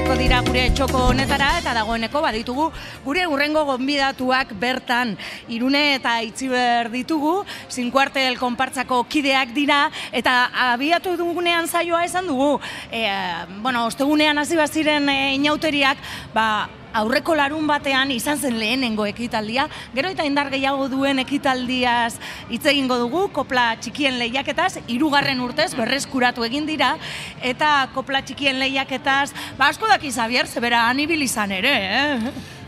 etorriko dira gure txoko honetara eta dagoeneko baditugu gure hurrengo gonbidatuak bertan. Irune eta Itziber ditugu, Zinkuartel konpartzako kideak dira eta abiatu dugunean saioa esan dugu. Ostegunean hasi baziren inauteriak, aurreko larun batean izan zen lehenengo ekitaldia, gero eta indar gehiago duen ekitaldiaz hitz egingo dugu, kopla txikien lehiaketaz, 3. urtez berreskuratu egin dira, eta kopla txikien lehiaketaz, asko daki Xabier, zebera anibil izan ere,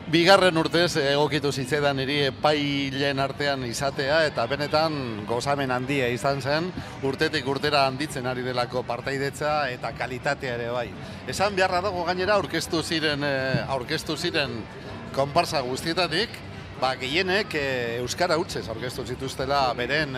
2. urtez egokitu zitzaidan niri epailen artean izatea eta benetan gozamen handia izan zen, urtetik urtera handitzen ari delako partaidetza eta kalitatea ere bai. Esan beharra dago gainera aurkeztu ziren konparsa guztietatik, gehienek euskara hutsez aurkeztu zituztela beren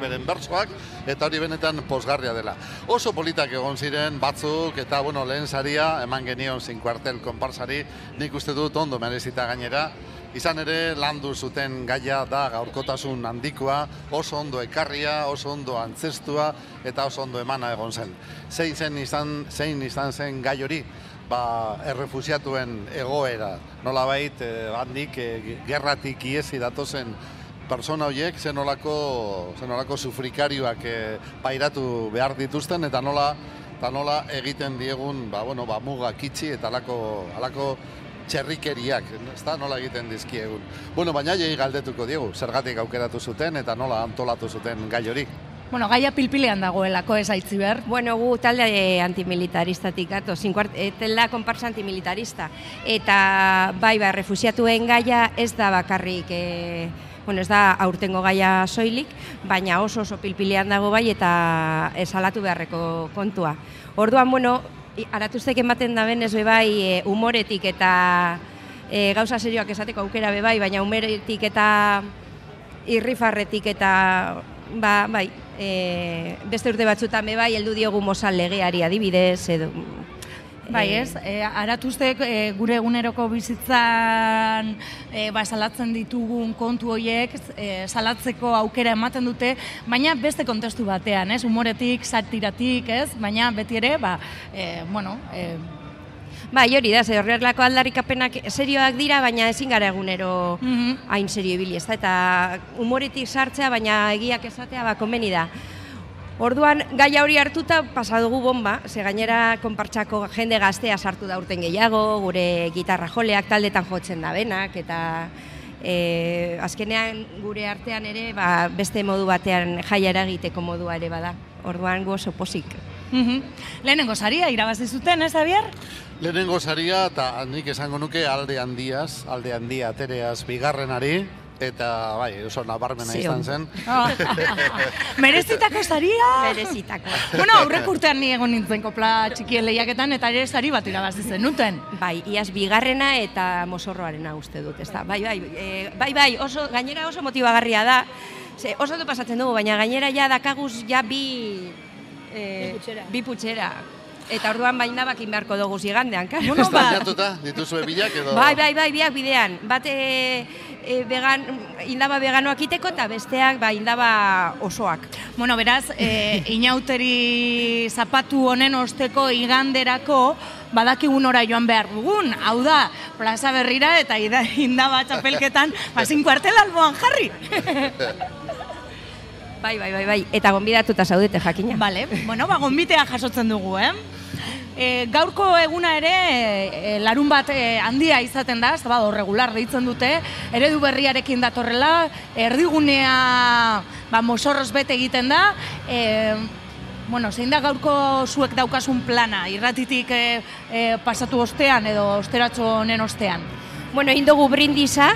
beren bertsoak, eta hori benetan pozgarria dela. Oso politak egon ziren batzuk, eta lehen saria eman genion Zinkuartel konparsari, nik uste dut ondo merezita gainera. Izan ere, landu zuten gaia da gaurkotasun handikoa, oso ondo ekarria, oso ondo antzestua, eta oso ondo emana egon zen. Zein izan zen gai hori? Errefusiatuen egoera, nolabait handik gerratik iesi datozen persona horiek zenolako sufrikarioak pairatu behar dituzten eta nola egiten diegun mugak itxi eta halako txerrikeriak, nola egiten dizkiegun. Baina jai galdetuko diegu, zergatik aukeratu zuten eta nola antolatu zuten gai hori. Gaia pilpilean dagoelako ez Aitziber. Gu talde antimilitaristatik gato, Zinkuartela konparsa antimilitarista. Eta refusiatuen gaia ez da bakarrik, ez da aurtengo gaia soilik, baina oso pilpilean dago bai eta esalatu beharreko kontua. Orduan, aratuztek ematen da benez bebai humoretik eta gauza serioak esateko aukera bebai, baina humoretik eta irrifarretik eta beste urte batzutan bebai, heldu diogu Mozal legeari adibidez, edo... Aratuztek gure eguneroko bizitzan salatzen ditugun kontu horiek, salatzeko aukera ematen dute, baina beste kontestu batean, humoretik, satiratik, baina beti ere, hori da, horrelako aldarrikapenak serioak dira, baina ezin gara egunero hain serio ibili, eta humoretik sartzea, baina egiak esatea, komeni da. Orduan, gaia hori hartuta pasadugu bomba, gainera konpartsako jende gaztea sartu da urten gehiago, gure gitarra joleak taldetan jotzen da benak, eta azkenean gure artean ere beste modu batean jaiara egiteko modua ere bada. Orduan, gu oso pozik. Lehenengo saria irabazi zuten, Xabier? Lehenengo saria, eta nik esango nuke alde handia atereaz 2. eta oso nabarmena izan zen. Merezitako saria? Merezitako. Aurreko urtean ni egon nintzen kopla txikien lehiaketan eta ere sari bat irabazi zenuten. Iaz 2. eta mozorroarena uste dut, ez da. Gainera oso motibagarria da. Oso ondo pasatzen dugu, baina gainera dakaguz bi putxera. Eta orduan bakin beharko dugu zigandean. Estanjatuta, dituzue bilak edo? Biak bidean. Bat indaba veganoak iteko eta besteak indaba osoak. Beraz, inauteri zapatu honen osteko iganderako badakigun ora joan behar dugun. Hau da, plaza berrira eta indaba txapelketan Zinkuartel alboan jarri. Bai, eta gonbidatuta zaudete jakina. Gonbitea jasotzen dugu, Gaurko eguna ere larun bat handia izaten da, regular deitzen dute, eredu berriarekin datorrela, erdigunea mozorroz bete egiten da, zein da gaurko zuek daukasun plana, irratitik pasatu ostean edo osteratxo honen ostean? Indogu brindisa,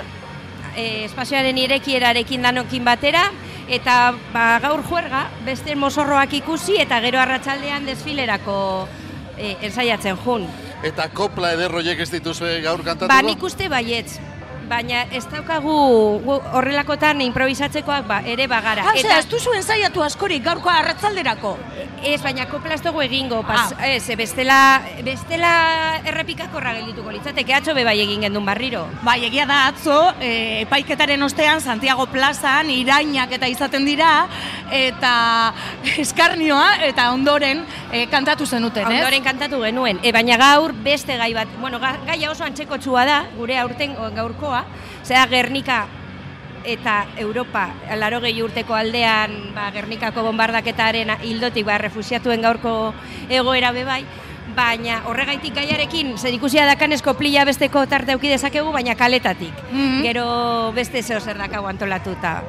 espazioaren irekierarekin danokin batera, eta gaur juerga, beste mozorroak ikusi eta gero arratsaldean desfilerako ensaiatzen jun. Eta kopla ederroiek ez dituzue gaur kantatuko? Nik uste baietz. baina ez daukagu horrelakotan improvisatzekoak ere bagara. Eta ez duzu ensaiatu askorik gaurko arratzalderako? Ez, baina kopla ez dugu egingo, bestela errepikakorra geldituko litzateke, atzo bai egin gendun barriro. Bai, egia da atzo, epaiketaren ostean Santiago plazan irainak eta izaten dira, eta eskarnioa, eta ondoren kantatu zenuten, ez? Ondoren kantatu genuen, baina gaur beste gai bat, bueno, gaia oso antzekotsua da, gure aurten gaurkoa, zera Gernika eta Europa, 80 urteko aldean, Gernikako bombardaketaren hildotik refusiatuen gaurko egoera bebai, baina horregaitik gaiarekin zerikusia dakanez koplila besteko tarte auki dezakegu, baina kaletatik. Gero beste zeo zer dakago antolatuta.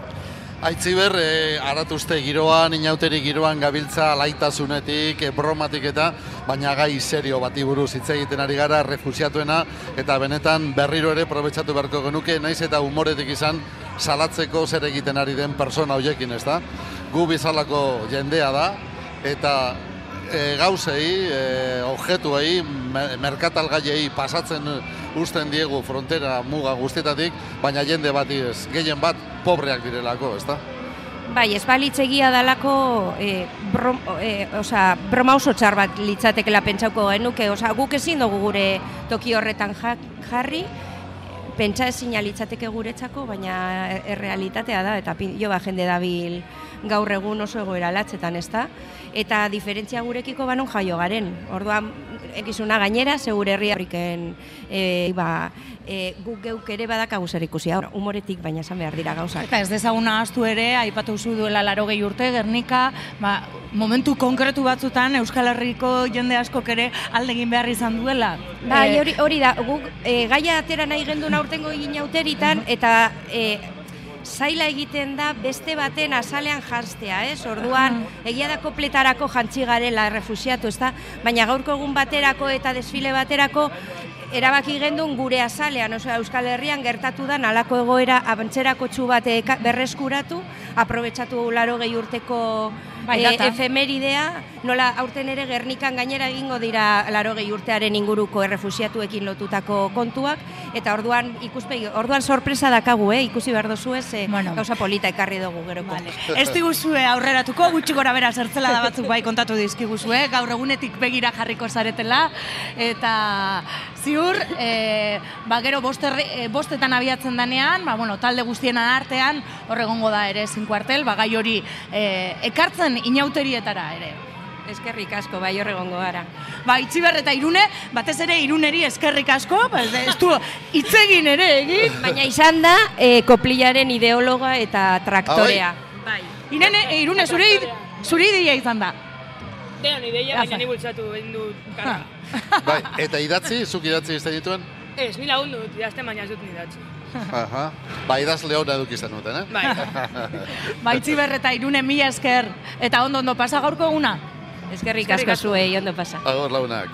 Aitziber, aratuzte giroan, inauteri giroan gabiltza laitasunetik, bromatik eta, baina gai serio bati buruz hitz egiten ari gara refusiatuena, eta benetan berriro ere probetxatu beharko genuke, naiz eta humoretik izan salatzeko zer egiten ari den persona hoiekin, ez da? Gu bizalako jendea da, eta gauzei, objetuei, merkatalgaiei pasatzen usten diegu frontera muga guztietatik, baina jende bati ez, gehien bat pobreak direlako, ez da? Bai, ez balitz egia dalako broma oso txar bat litzatekela pentsauko genuke, guk ezin dugu gure toki horretan jarri, pentsa ezina litzateke guretzako, baina errealitatea da, eta jende dabil gaur egun oso egoera latzetan, ez da? Eta diferentzia gurekiko banon jaio garen. Orduan, ekizuna gainera, segure herri horriken guk geuk ere badakagu zer ikusia. Humoretik baina esan behar dira gauzak. Eta ez dezaguna ahaztu ere, aipatu zu duela 80 urte, Gernika, momentu konkretu batzutan Euskal Herriko jende askok ere alde egin behar izan duela. Bai, hori da, guk gaia atera nahi gendun aurtengo inauteritan, eta zaila egiten da beste baten azalean jantztea, ez? Orduan, egia da kopletarako jantzi garela refusiatu, ez da? Baina gaurko egun baterako eta desfile baterako erabaki gendun gure azalean, Euskal Herrian gertatu da nalako egoera abantzerako txu bat berreskuratu, aprobetsatu 80 urteko efemeridea, nola aurten ere Gernikan gainera egingo dira 80 urtearen inguruko errefusiatuekin lotutako kontuak, eta orduan sorpresa dakagu, ikusi behar dozu ez, gauza polita ekarri dugu geroko. Ez diguzue aurreratuko, gutxi gora bera zertzela da batzuk bai kontatu dizkiguzue, gaur egunetik begira jarriko zaretela, eta ziur, gero bostetan abiatzen danean, talde guztien artean, horregongo da ere 5 kuartel, gai hori ekartzen inauterietara ere. Eskerrik asko, bai horregongo gara. Itziber eta Irune, batez ere Iruneri eskerrik asko, ez du hitzegin ere egin. Baina izan da, koplilaren ideologa eta traktorea. Irune, zure ideia izan da. Dean ideia, baina ni bultzatu egin du karra. Eta idatzi, zuk idatzi izan dituen? Ez, ni lagundut, idazten baina ez dut ni idatzi. Idaz leona edukizan duten, Itziber eta Irune, mila esker, eta ondo pasa gaurko eguna. Eskerrik asko zuei, ondo pasa. Agor launak.